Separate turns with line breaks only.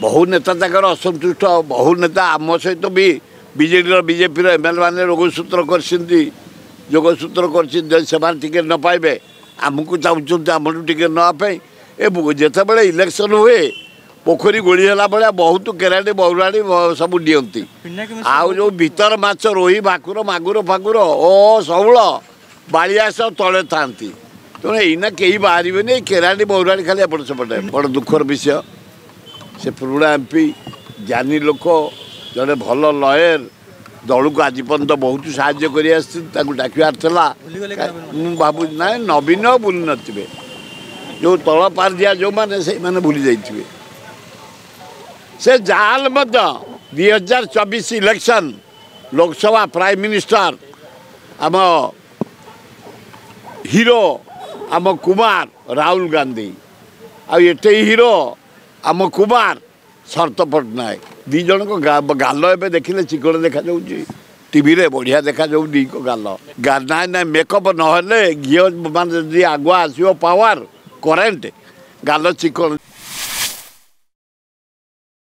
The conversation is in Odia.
ବହୁ ନେତା ତାଙ୍କର ଅସନ୍ତୁଷ୍ଟ, ବହୁ ନେତା ଆମ ସହିତ ବି ବିଜେଡ଼ିର ବିଜେପିର ଏମ୍ ଏଲ୍ ମାନେ ରୋଗସୂତ୍ର କରିଛନ୍ତି, ଯୋଗସୂତ୍ର କରିଛନ୍ତି। ଯଦି ସେମାନେ ଟିକେଟ୍ ନ ପାଇବେ, ଆମକୁ ଚାହୁଁଛନ୍ତି ଆମଠୁ ଟିକେଟ୍ ନେବା ପାଇଁ। ଏ ଯେତେବେଳେ ଇଲେକ୍ସନ୍ ହୁଏ, ପୋଖରୀ ଗୋଳି ହେଲା ଭଳିଆ ବହୁତ କେରାଡ଼ି ବଉରାଡ଼ି ସବୁ ଦିଅନ୍ତି। ଆଉ ଯେଉଁ ଭିତର ମାଛ ରୋହି, ଭାକୁର, ମାଗୁର ଫାଗୁର ଓ ଶଉଳ ବାଳିଆ ସହ ତଳେ ଥାନ୍ତି। ତେଣୁ ଏଇନା କେହି ବାହାରିବେନି, ଏଇ କେରାଣ୍ଡି ବଉରାଡ଼ି ଖାଲି ଏପଟ ସେପଟେ। ବଡ଼ ଦୁଃଖର ବିଷୟ, ସେ ପୁରୁଣା ଏମ୍ ପି, ଜ୍ଞାନୀ ଲୋକ, ଜଣେ ଭଲ ଲୟର, ଦଳକୁ ଆଜି ପର୍ଯ୍ୟନ୍ତ ବହୁତ ସାହାଯ୍ୟ କରି ଆସିଛନ୍ତି। ତାକୁ ଡାକିବାର ଥିଲା। ମୁଁ ଭାବୁଛି ନାଇଁ, ନବୀନ ଭୁଲି ନଥିବେ, ଯେଉଁ ତଳ ପାରିଦିଆ ଯେଉଁମାନେ ସେଇମାନେ ଭୁଲି ଯାଇଥିବେ। ସେ ଯାହାହେଲେ ମଧ୍ୟ 2024 ଇଲେକ୍ସନ୍ ଲୋକସଭା ପ୍ରାଇମ୍ ମିନିଷ୍ଟର ଆମ ହିରୋ ଆମ କୁମାର ରାହୁଲ ଗାନ୍ଧୀ, ଆଉ ଏଠି ହିରୋ ଆମ କୁମାର ଶରତ ପଟ୍ଟନାୟକ। ଦୁଇ ଜଣଙ୍କ ଗାଲ ଏବେ ଦେଖିଲେ ଚିକଣ ଦେଖାଯାଉଛି, ଟିଭିରେ ବଢ଼ିଆ ଦେଖାଯାଉ ଦୁଇଙ୍କ ଗାଲ। ନାଇଁ ନାଇଁ, ମେକଅପ୍ ନହେଲେ ଘିଅ ମାନେ ଯଦି ଆଗୁଆ ଆସିବ ପାୱାର କରେଣ୍ଟ, ଗାଲ ଚିକଣ।